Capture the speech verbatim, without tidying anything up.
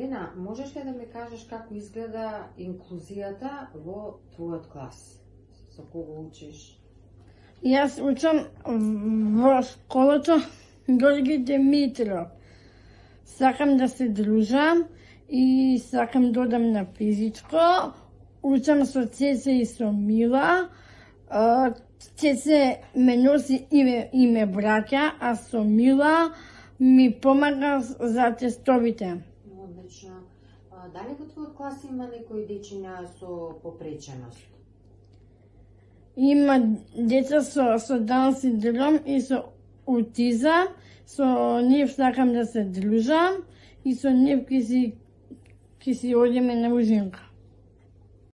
Милена, можеш ли да ми кажеш како изгледа инклузијата во твојот клас? Со кого учиш? Јас учам во школата Георги Димитров. Сакам да се дружам и сакам да одам на физичко. Учам со Цеце и со Мила. Цеце ме носи име, име браќа, а со Мила ми помага за тестовите. Одлично. Дали во твојот клас има некои дечиња со попреченост? Има деца со, со дан синдром и со аутизам. Со нив сакам да се дружам и со нив ќе си, ќе си одиме на ужинка.